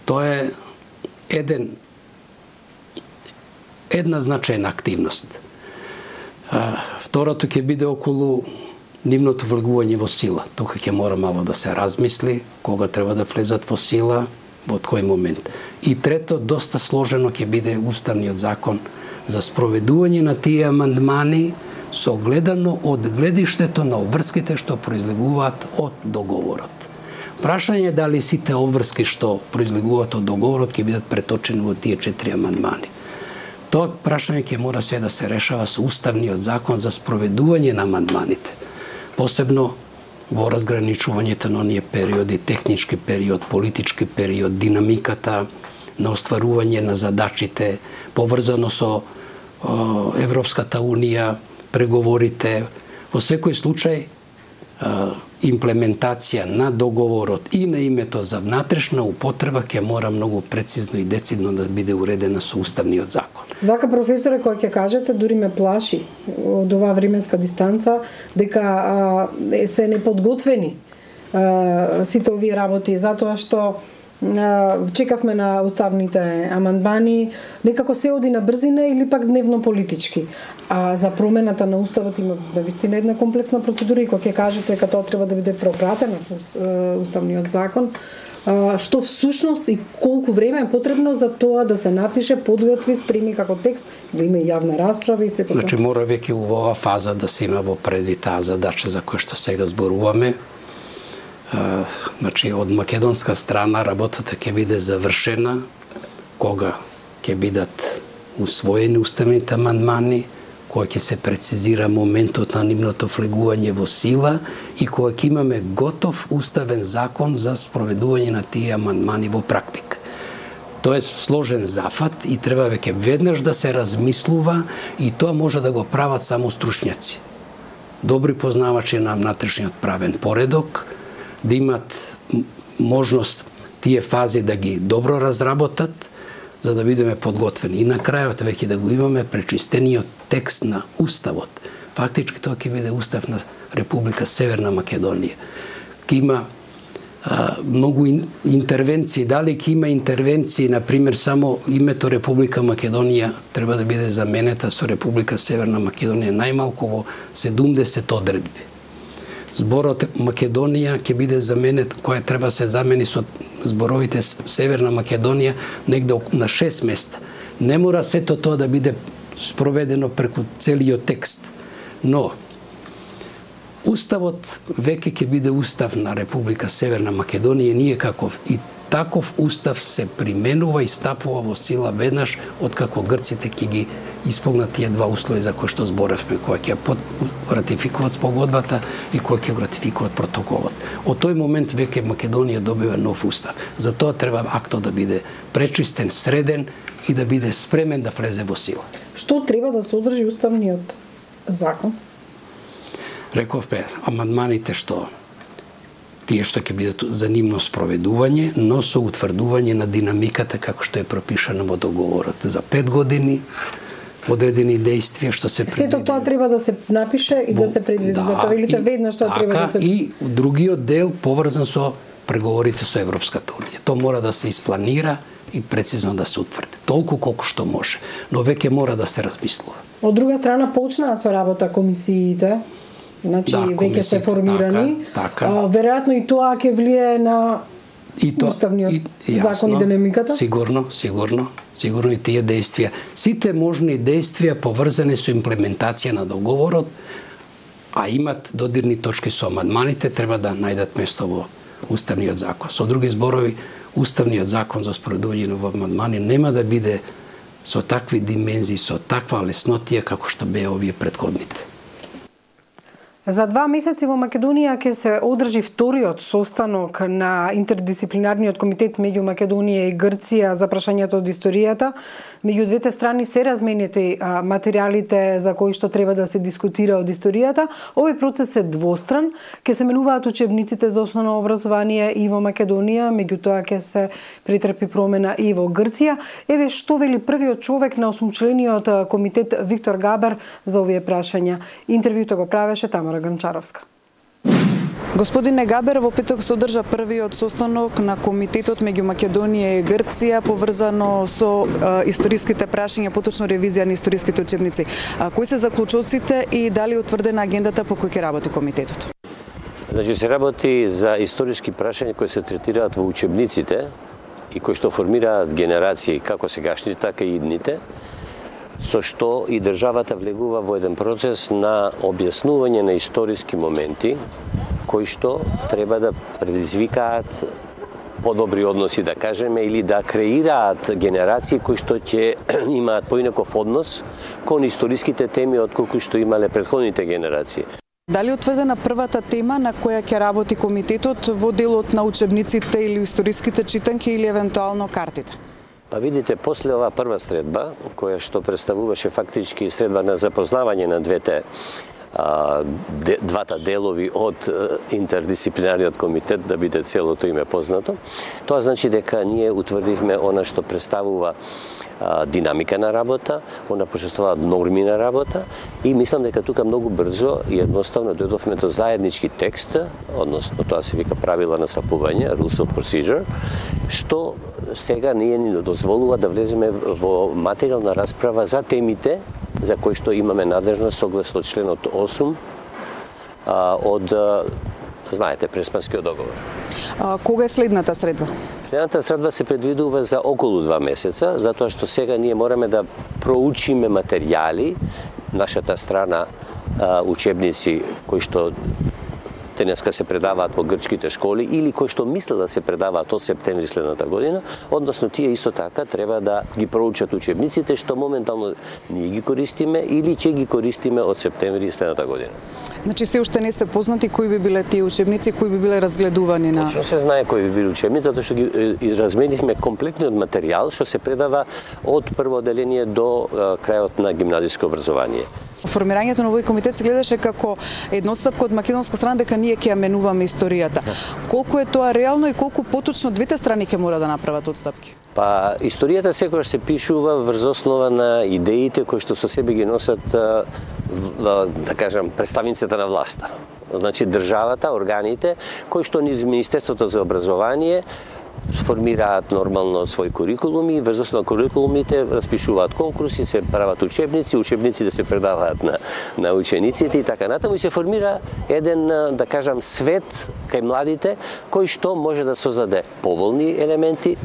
тоа е еден една значајна активност. А, второто ќе биде околу нивното влегување во сила. Тука ќе мора мало да се размисли кога треба да влезат во сила, во кој момент. И трето, доста сложено ќе биде уставниот закон за спроведување на тие амандмани со гледано од гледиштето на обврските што произлегуваат од договорот. Прашање е дали сите обврски што произлегуваат од договорот ќе бидат преточени во тие четири амандмани. Тоа прашање ќе мора се да се решава со уставниот закон за спроведување на амандманите. Посебно во разграничувањето на оние периоди, технички период, политички период, динамиката на остварување на задачите, поврзано со о, Европската унија, преговорите. Во секој случај имплементација на договорот и на името за внатрешна употреба ќе мора многу прецизно и децидно да биде уредена со уставниот закон. Вака, професоре, кој ќе кажете, дури ме плаши од оваа временска дистанца, дека а, се неподготвени а, сите овие работи, затоа што чекавме на уставните амандмани, некако се оди на брзина или пак дневно политички. А за промената на уставот има навистина една комплексна процедура и кога ќе кажете дека тоа треба да биде пропратено со уставниот закон, што всушност и колку време е потребно за тоа да се напише, подготви, спреми како текст, да има јавна расправа и се тоа. Значи мора веќе во оваа фаза да се има во предвид таа задача за која што сега зборуваме. Uh, значи, од македонска страна работата ќе биде завршена кога ќе бидат усвоени уставните амандмани, кога ќе се прецизира моментот на нивното влегување во сила и кога ќе имаме готов уставен закон за спроведување на тие амандмани во практика. Тоа е сложен зафат и треба веќе веднаш да се размислува и тоа може да го прават само стручњаци. Добри познавачи на внатрешниот правен поредок, да имат можност тие фази да ги добро разработат, за да бидеме подготвени. И на крајот веќе да го имаме пречистениот текст на уставот. Фактички тоа ќе биде устав на Република Северна Македонија. Ќе има а, многу ин, интервенции. Дали ќе има интервенции, например, само името Република Македонија треба да биде заменета со Република Северна Македонија најмалку во седумдесет одредби. Зборот Македонија ќе биде заменет, која треба се замени со зборовите Северна Македонија негде на шест места. Не мора сето тоа да биде спроведено преку целиот текст, но уставот веќе ќе биде устав на Република Северна Македонија, ние како и таков устав се применува и стапува во сила веднаш откако грците ќе ги исполнат тие два услови за кои што зборевме, кои ќе ратификуваат спогодбата и кои ќе ратификуваат протоколот. Од тој момент веќе Македонија добива нов устав. Затоа треба актот да биде пречистен, среден и да биде спремен да влезе во сила. Што треба да содржи уставниот закон? Рековме, амандманите што тие што ќе бидат за нивно спроведување, но со утврдување на динамиката како што е пропишано во договорот за пет години, одредени действија што се предвидени. Сето тоа треба да се напише и да се предвиди, да, за тоа или веднаш тоа треба да се... И другиот дел поврзан со преговорите со Европската унија. Тоа мора да се испланира и прецизно да се утврди. Толку колку што може, но веќе мора да се размислува. Од друга страна почнаа со работа комисиите, значи да, веќе се формирани. Така, така. А, веројатно и тоа ќе влие на и то, уставниот и, закон и динамиката? Сигурно, сигурно. Сигурно и тие действија. Сите можни действија поврзани со имплементација на договорот, а имат додирни точки со амандманите, треба да најдат место во уставниот закон. Со други зборови, уставниот закон за спроведување на амандмани нема да биде со такви димензии, со таква леснотија како што беа овие претходните. За два месеци во Македонија ќе се одржи вториот состанок на интердисциплинарниот комитет меѓу Македонија и Грција за прашањето од историјата. Меѓу двете страни се разменети материјалите за кои што треба да се дискутира од историјата. Овој процес е двостран. Ќе се менуваат учебниците за основно образование и во Македонија, меѓутоа ќе се претрпи промена и во Грција. Еве што вели првиот човек на осумчлениот комитет Виктор Габер за овие прашања. Интервјуто го правеше Тамара Гранчаровска. Господине Габер, во петок се одржа првиот состанок на комитетот меѓу Македонија и Грција поврзано со а, историските прашања, поточно ревизија на историските учебници. А, кои се заклучоците и дали е утврдена агендата по кој ќе работи комитетот? Значи се работи за историски прашања кои се третираат во учебниците и кои што формираат генерации, како сегашните, така и идните, со што и државата влегува во еден процес на објаснување на историски моменти кои што треба да предизвикаат подобри односи, да кажеме, или да креираат генерации кои што ќе имаат поинаков однос кон историските теми отколку што имале претходните генерации. Дали е утврдена првата тема на која ќе работи комитетот во делот на учебниците или историските читанки или евентуално картите? Па видите, после оваа прва средба, која што представуваше фактички средба на запознавање на двете а, де, двата делови од интердисциплинарниот комитет, да биде целото име познато, тоа значи дека ние утврдивме она што представува а, динамика на работа, она почувствуваат норми на работа и мислам дека тука многу брзо и едноставно дојдовме до заеднички текст, односно тоа се вика правила на сапување, rules of procedure, што сега ние ни дозволува да влеземе во материјална расправа за темите за кои што имаме надлежност согласно членот осум а, од, знаете, Преспанскиот договор. А, кога е следната средба? Следната средба се предвидува за околу два месеца, затоа што сега ние мораме да проучиме материјали, нашата страна а, учебници кои што денеска се предаваат во грчките школи или кои што мислат да се предаваат од септември следната година, односно тие исто така треба да ги проучат учебниците што моментално ние ги користиме или ќе ги користиме од септември следната година. Значи се уште не се познати кои би биле тие учебници, кои би биле разгледувани на... Точно се знае кои би биле учебници, затоа што ги разменивме комплетниот материјал што се предава од прво одделение до крајот на гимназиско образование. Формирањето на овој комитет се гледаше како едностапка од македонска страна дека ние ќе ја менуваме историјата. Колку е тоа реално и колку поточно двете страни ќе мора да направат отстапки? Па, историјата секогаш се пишува врз основа на идеите кои што со себе ги носат, да кажам, представниците на власта. Значи, државата, органите, кои што низ Министерството за образование сформираат нормално своји курикулуми, врз основа на курикулумите распишуваат конкурси, се прават учебници, учебниците се предаваат на, на учениците и така натаму и се формира еден, да кажам, свет кај младите кој што може да создаде поволни елементи,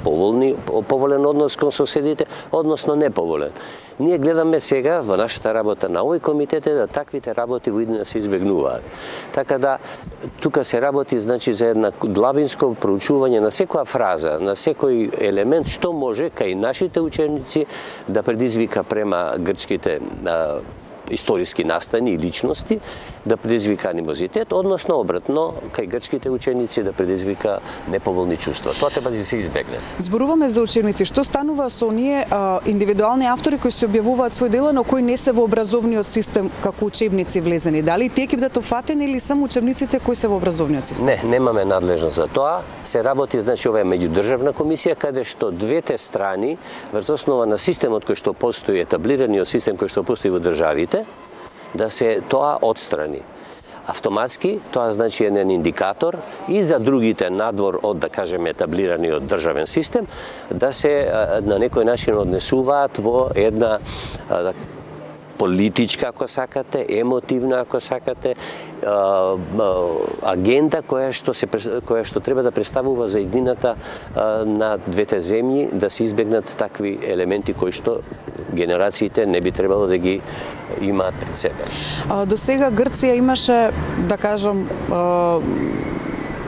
поволни, поволен однос кон соседите, односно неповолен. Ние гледаме сега во нашата работа на овој комитет е да таквите работи во иднина се избегнуваат. Така да тука се работи значи за една длабинско проучување на секоја фраза, на секој елемент што може кај нашите ученици да предизвика према грчките а, историски настани и личности, да предизвика анимозитет, односно обратно кај грчките ученици да предизвика неповолни чувства. Тоа треба да се избегне. Зборуваме за учебници. Што станува со оние а, индивидуални автори кои се објавуваат свој дела, но кои не се во образовниот систем како учебници влезени? Дали тие ќе бидат опфатени или само учебниците кои се во образовниот систем? Не, немаме надлежност за тоа. Се работи, значи, ова е меѓудржавна комисија каде што двете страни врз основа на системот кој што постои, етаблираниот систем кој што постои во државите, да се тоа отстрани. Автоматски, тоа значи еден индикатор и за другите надвор од, да кажеме, етаблираниот државен систем, да се на некој начин однесуваат во една политичка, ако сакате, емотивна, ако сакате, агенда која што се која што треба да представува за иднината на двете земји, да се избегнат такви елементи кои што генерациите не би требало да ги имаат пред себе. До сега Грција имаше, да кажам,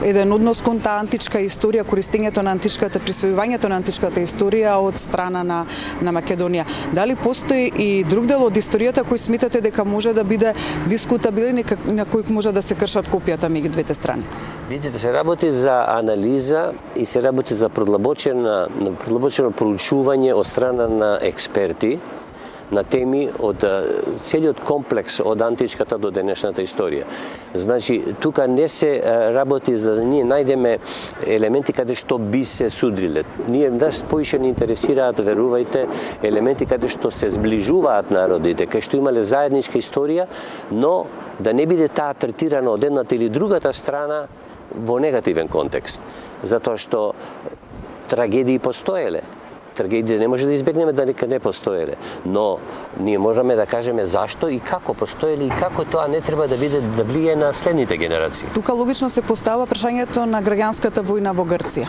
еден однос кон таа античка историја, користењето на античката, присвојувањето на античката историја од страна на, на Македонија. Дали постои и друг дел од историјата кој сметате дека може да биде дискутабилен и на кој може да се кршат копијата меѓу двете страни? Видите, се работи за анализа и се работи за продлабочено, продлабочено проучување од страна на експерти на теми од целиот комплекс од античката до денешната историја. Значи, тука не се работи за да ние најдеме елементи каде што би се судриле. Ние нас поише не интересираат, верувајте, елементи каде што се зближуваат народите, каде што имале заедничка историја, но да не биде таа третирана од едната или другата страна во негативен контекст. Затоа што трагедии постоеле. Трагедија не може да избегнеме дека не постоеле, но ние можеме да кажеме зашто и како постоеле и како тоа не треба да биде да влијае на следните генерации. Тука логично се постава прашањето на граѓанската војна во Грција.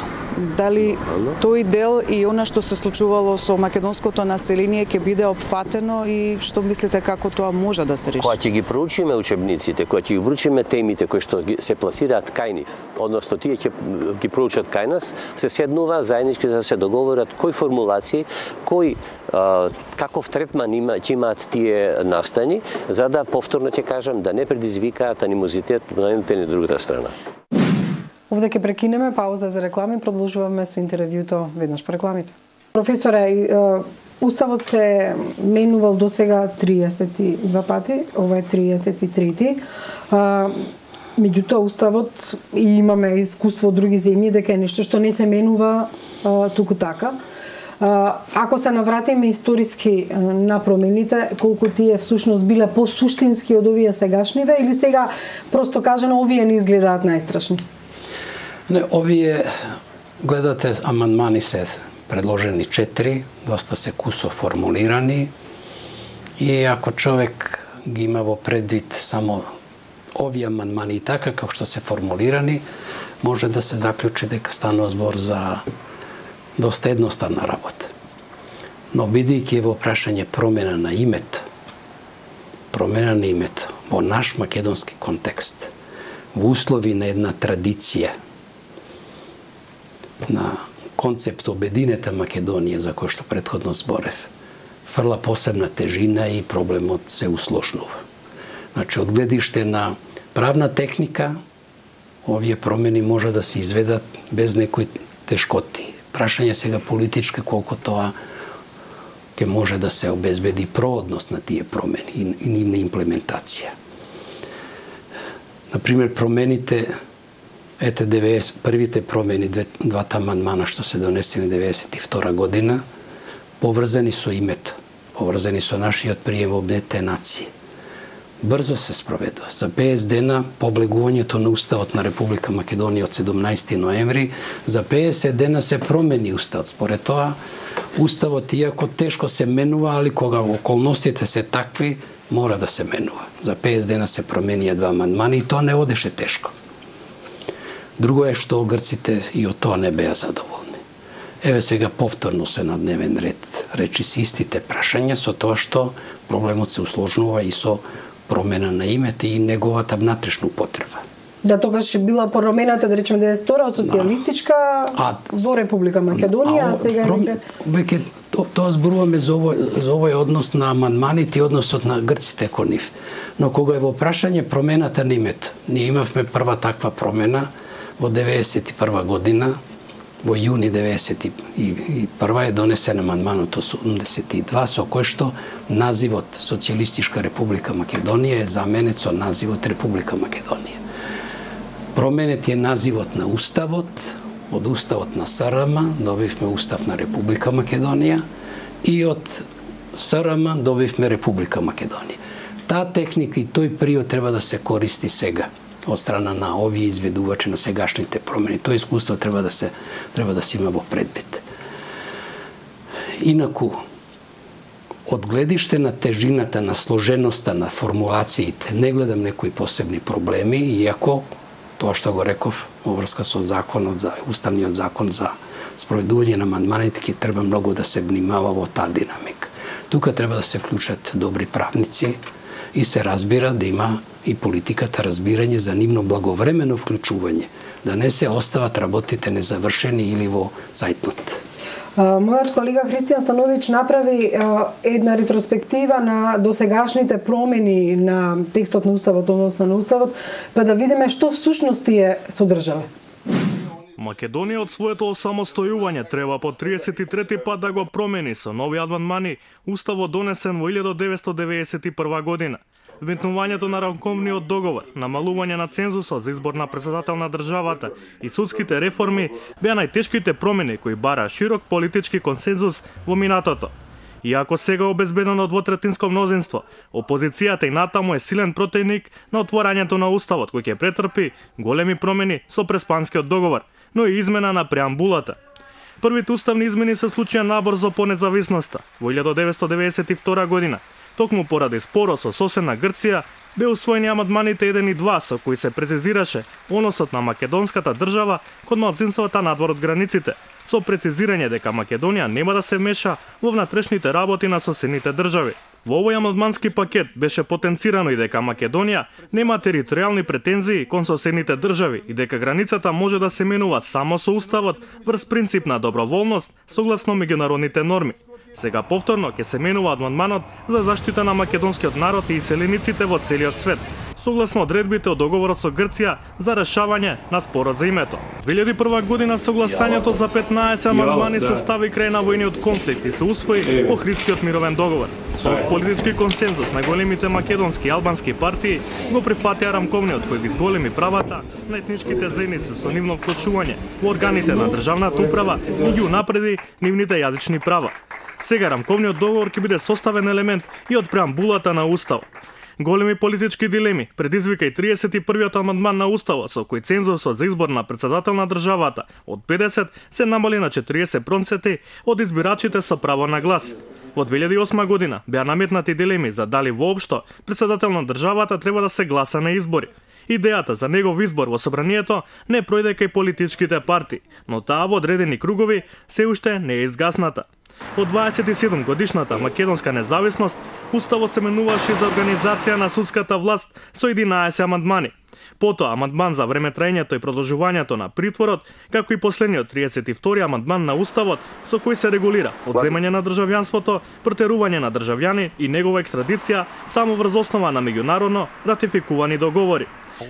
Дали тој дел и она што се случувало со македонското население ќе биде опфатено и што мислите како тоа може да се реши? Кога ќе ги проучиме учебниците, кога ќе ги проучиме темите кои што се пласираат кај нив, односно тие ќе ги проучат кај нас, се седнува заеднички да се договорат кој формулации, кој а, каков третман има, ќе имаат тие настани, за да повторно ќе кажам да не предизвикаат анимозитет на едната или другата страна. Овде ќе прекинеме, пауза за реклами, продолжуваме со интервјуто веднаш по рекламите. Професоре, Уставот се менувал до сега триесет и два пати, ова е триесет и трети. Меѓутоа, Уставот, и имаме искуство од други земји, дека е нешто што не се менува туку така. Ако се навратиме историски на промените, колку тие всушност биле посуштински од овие сегашниве или сега просто кажано овие не изгледаат најстрашни? Не, овие гледате амандмани се предложени четири, доста се кусо формулирани и ако човек ги има во предвид само овие амандмани и така како што се формулирани, може да се заклучи дека станува збор за доста едноставна работа. Но бидејќи е во прашање промена на името, промена на името во наш македонски контекст, во услови на една традиција, на концепт обединета Македонија, за кој што претходно зборев, фрла посебна тежина и проблемот се услошнува. Значи, од гледиште на правна техника, овие промени може да се изведат без некои тешкоти. Прашање сега политички колку тоа ќе може да се обезбеди проодност на тие промени и, и нивна имплементација. Например, промените, ете деветдесет, првите промени, двата амандмана што се донесени деветдесет и втора година, поврзани со името, поврзани со нашиот прием во Обединетите нации. Брзо се спроведува. За петдесет дена по облегувањето на Уставот на Република Македонија од седумнаесети ноември, за петдесет дена се промени Уставот. Според тоа, Уставот, иако тешко се менува, али кога околностите се такви, мора да се менува. За петдесет дена се променија два амандмани и тоа не одеше тешко. Друго е што грците и од тоа не беа задоволни. Еве сега повторно се на дневен ред речи си истите прашања, со тоа што проблемот се усложнува и со промена на името и неговата внатрешна употреба. Да, тогаш била промената, да речеме, деветдесет и втора од социјалистичка а, во Република Македонија, а, а сега пром... веќе то, тоа зборуваме за овој, за овој однос на амандманите и односот на грците кон нив. Но кога е во прашање промената на името, ние имавме прва таква промена во деветдесет и прва година, во јуни деветдесет и прва е донесен амандманот осумдесет и два, со кој што називот Социјалистичка Република Македонија е заменет со називот Република Македонија. Променет е називот на Уставот, од Уставот на СРМ добивме Устав на Република Македонија и од СРМ добивме Република Македонија. Таа техника и тој период треба да се користи сега од страна на овие изведувачи на сегашните промени. Тоа искуство треба да се треба да се има во предвид. Инаку, од гледиште на тежината, на сложеноста на формулациите, не гледам некои посебни проблеми, иако тоа што го реков во врска со законот за уставниот закон за спроведување на амандманите, ќе треба многу да се внимава во таа динамика. Тука треба да се вклучат добри правници и се разбира да има и политиката разбирање за нивно благовремено вклучување, да не се остават работите незавршени или во цајтнот. Мојот колега Христијан Становиќ направи една ретроспектива на досегашните промени на текстот на Уставот, односно на Уставот, па да видиме што всушност тие содржале. Македонија од своето осамостојување треба по триесет и трети пат да го промени со нови амандмани Уставот донесен во илјада деветстотини деведесет и прва година. Вметнувањето на рамковниот договор, намалување на цензусот за избор на председател на државата и судските реформи беа најтешките промени кои бара широк политички консензус во минатото. Иако сега обезбедено двотретинско мнозинство, опозицијата и натаму е силен противник на отворањето на Уставот, кој ќе претрпи големи промени со Преспанскиот договор, но и измена на преамбулата. Првите уставни измени се случија набрзо по независноста во илјада деветстотини деведесет и втора година. Токму поради споро со соседна Грција, бе усвоени амандманите еден и два со кои се прецизираше односот на македонската држава кон малцинствата надвор од границите, со прецизирање дека Македонија нема да се меша во внатрешните работи на соседните држави. Во овој амандмански пакет беше потенцирано и дека Македонија нема територијални претензии кон соседните држави и дека границата може да се менува само со Уставот врз принцип на доброволност согласно меѓународните норми. Сега повторно ќе се менува амандманот за заштита на македонскиот народ и иселениците во целиот свет, согласно одредбите од договорот со Грција за решавање на спорот за името. две илјади и прва година согласањето за петнаесет амандмани се стави крај на војниот конфликт и се усвои Охридскиот мировен договор. Со общ политички консензус на големите македонски и албански партии го прифатија рамковниот кој ги зголеми правата на етничките заедници со нивно вклучување во органите на државната управа и ги унапреди нивните јазични права. Сега рамковниот договор ќе биде составен елемент и од преамбулата на Уставот. Големи политички дилеми предизвика и триесет и првиот амандман на Уставот со кој цензусот за избор на претседател на државата од педесет се намали на четириесет проценти од избирачите со право на глас. Во две илјади и осма година беа наметнати дилеми за дали воопшто претседател на државата треба да се гласа на избори. Идејата за негов избор во собранието не пројде кај политичките партии, но таа во одредени кругови се уште не е изгасната. Од дваесет и седум годишната македонска независност, Уставот се менуваше за организација на судската власт со единаесет амандмани. Потоа амандман за време траењето и продолжувањето на притворот, како и последниот триесет и втори амандман на Уставот со кој се регулира одземање на државјанството, протерување на државјани и негова екстрадиција само врз основа на меѓународно ратификувани договори.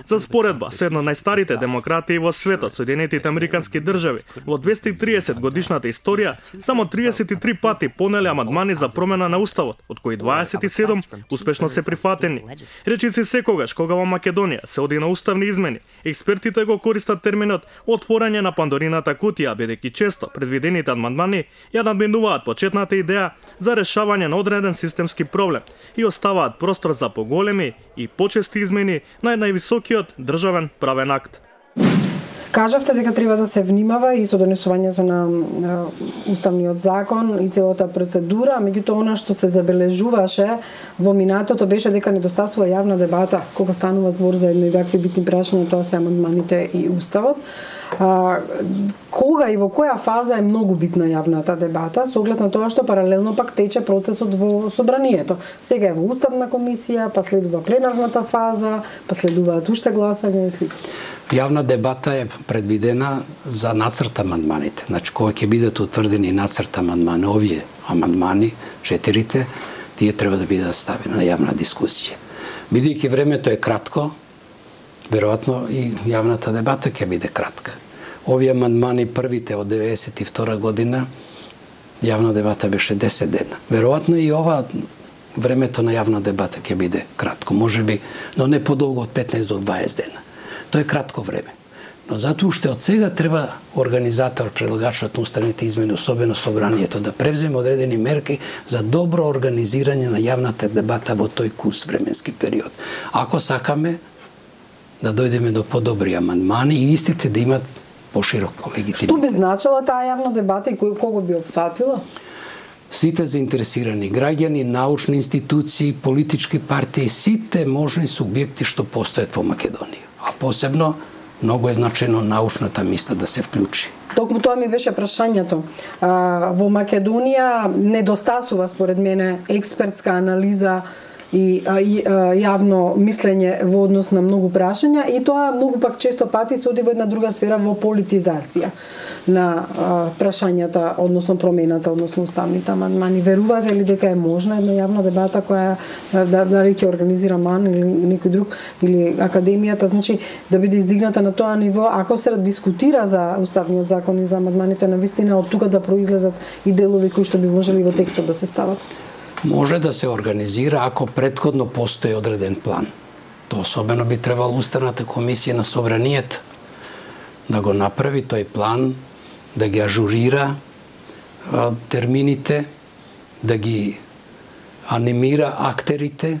За споредба, се една најстарите демократии во светот, Соединетите Американски држави, во двесте и триесет годишната историја, само триесет и три пати понеле амандмани за промена на Уставот, од кои дваесет и седум успешно се прифатени. Речиси секогаш, кога во Македонија се оди на уставни измени, експертите го користат терминот отворање на Пандорината кутија, бидејќи често предвидените амандмани ја надминуваат почетната идеја за решавање на одреден системски проблем и оставаат простор за поголеми и почести измени на највисокиот државен правен акт. Кажавте дека треба да се внимава и со донесувањето на, на уставниот закон и целата процедура, меѓутоа она што се забележуваше во минатото беше дека недостасува јавна дебата кога станува збор за едни вакви битни прашања, тоа се амандманите и уставот. А, кога и во која фаза е многу битна јавната дебата, со оглед на тоа што паралелно пак тече процесот во собранието. Сега е во уставна комисија, па следува пленарната фаза, па следуваат уште гласања и слика. Јавна дебата е предвидена за нацрт амандманите. Значи, кога ќе бидат утврдени нацрт амандмани, овие амандмани, четирите, тие треба да бидат ставени на јавна дискусија. Бидејќи времето е кратко, веројатно и јавната дебата ќе биде кратка. Овие амандмани првите од деветдесет и втора година, јавна дебата беше десет дена. Веројатно и ова времето на јавна дебата ќе биде кратко, можеби, но не подолго од петнаесет до дваесет дена. Тоа е кратко време. Но затоа уште од сега треба организатор, предлагачот на уставните измени, особено собранието, да превземе одредени мерки за добро организирање на јавната дебата во тој кус временски период. Ако сакаме да дојдеме до подобри амандмани и истите да имат пошироко легитимитет. Што би значила таа јавна дебата и кој кого би опфатила? Сите заинтересирани граѓани, научни институции, политички партии, сите можни субјекти што постојат во Македонија. А посебно, многу е значено научната мисла да се вклучи. Токму тоа ми беше прашањето. А, во Македонија недостасува, според мене, експертска анализа и, а, и а, јавно мислење во однос на многу прашања и тоа многу пак често пати се оди во една друга сфера, во политизација на а, прашањата, односно промената, односно уставните амандмани. Верувате ли дека е можна една јавна дебата која да, дали ќе организира МАН или некој друг или академијата, значи да биде издигната на тоа ниво, ако се дискутира за уставниот закон и за амандманите, на вистина од тука да произлезат и делови кои што би можели во текстот да се стават? Може да се организира ако претходно постои одреден план. Тоа особено би требало Уставната комисија на собранието да го направи тој план, да ги ажурира а, термините, да ги анимира актерите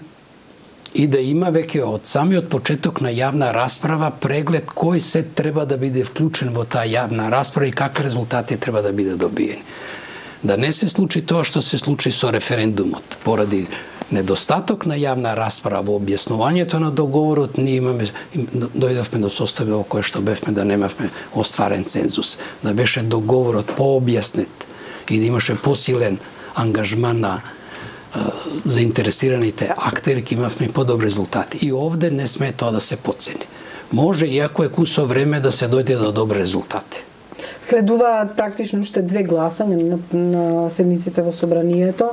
и да има веќе од самиот почеток на јавна расправа преглед кој се треба да биде вклучен во таа јавна расправа и какви резултати треба да биде добиени. Да не се случи тоа што се случи со референдумот. Поради недостаток на јавна расправа во објаснувањето на договорот, ние имаме, дојдовме до состојба во кое што бевме да немавме остварен цензус. Да беше договорот пообјаснет и да имаше посилен ангажман на заинтересираните актери, ќе имавме подобри резултати. И овде не сме тоа да се потцени. Може, иако е кусо време, да се дојде до добри резултати. Следуваат практично уште две гласања на, на седниците во собранието.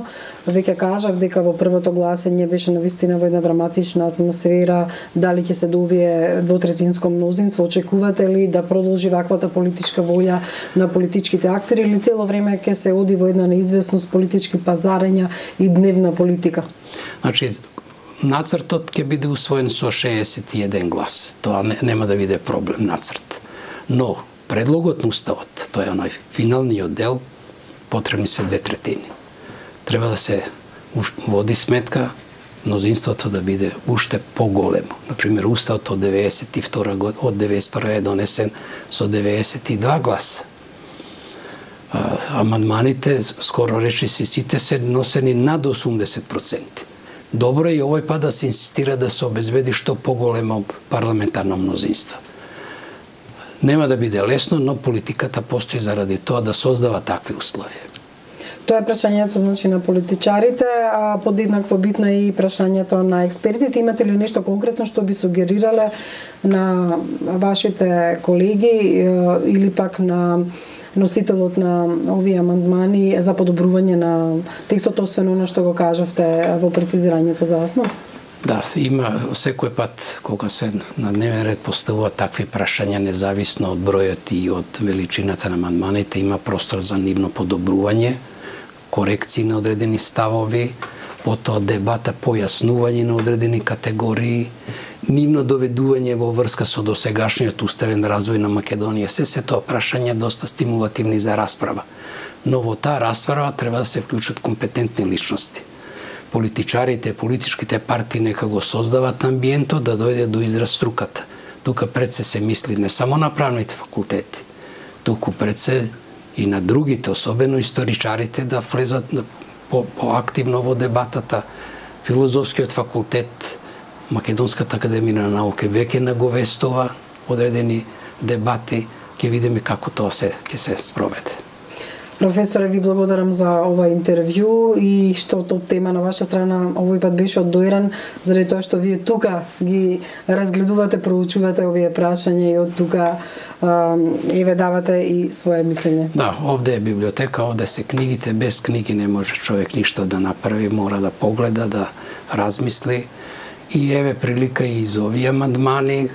Веќе кажав дека во првото гласање беше навистина во една драматична атмосфера. Дали ќе се до овие двотретинско мнозинство? Очекувате ли да продолжи ваквата политичка волја на политичките актери или цело време ќе се оди во една неизвестност, политички пазарења и дневна политика? Значи, нацртот ќе биде усвоен со шеесет и еден глас. Тоа не, нема да биде проблем нацрт. Но предлогот на уставот, тоа е оној финалниот дел, потребни се две третини. Треба да се води сметка мнозинството да биде уште поголемо. Например, уставот од деветдесет и втора год, од деветдесет и прва е донесен со деветдесет и два гласа. А, амандманите, скоро речи си, сите се носени над осумдесет проценти. Добро е и овој пат да се инсистира да се обезбеди што поголемо парламентарно мнозинство. Нема да биде лесно, но политиката постои заради тоа да создава такви услови. Тоа е прашањето, значи, на политичарите, а подеднакво битно е и прашањето на експертите. Имате ли нешто конкретно што би сугерирале на вашите колеги или пак на носителот на овие амандмани за подобрување на текстот, освен она што го кажавте во прецизирањето за основ? Да, има секој пат кога се на дневен ред поставуваат такви прашања, независно од бројот и од величината на амандманите, има простор за нивно подобрување, корекции на одредени ставови, потоа дебата, појаснување на одредени категории, нивно доведување во врска со досегашниот уставен развој на Македонија. Се се тоа прашања доста стимулативни за расправа. Но во таа расправа треба да се вклучат компетентни личности. Политичарите, политичките партии нека го создават амбиентот да дојде до израз струката. Тука пред се се мисли не само на правните факултети, туку пред се и на другите, особено историчарите, да влезат по, поактивно во дебатата. Филозофскиот факултет, Македонската академија на науки веќе наговестува одредени дебати, ќе видиме како тоа се ќе се спроведе. Професоре, ви благодарам за ова интервју и што топ тема на ваша страна овој пат беше оддоиран, заради тоа што вие тука ги разгледувате, проучувате овие прашања и од тука еве давате и свое мислење. Да, овде е библиотека, овде се книгите, без книги не може човек ништо да направи, мора да погледа, да размисли. И еве прилика и за овие амандмани,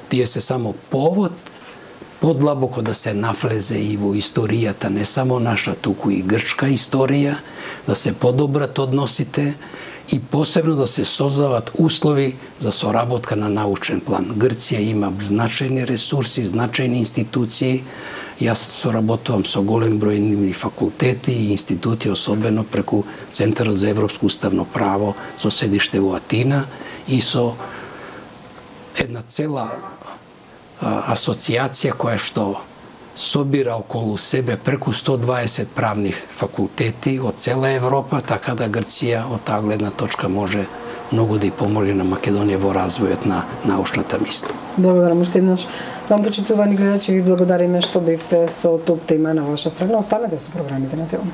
тие се само повод подлабоко да се нафлезе и во историјата, не само наша, туку и грчка историја, да се подобрат односите и посебно да се создават услови за соработка на научен план. Грција има значајни ресурси, значајни институции. Јас соработувам со голем број нивни факултети и институти, особено преку Центарот за европско уставно право со седиште во Атина и со една цела асоцијација која што собира околу себе преку сто дваесет правни факултети од цела Европа, така да Грција од таа гледна точка може многу да и помогне на Македонија во развојот на научната мисла. Благодарам уште еднаш. Вам, почитувани гледачи, ви благодариме што бевте со топ тема на ваша страна. Останете со програмите на Телом.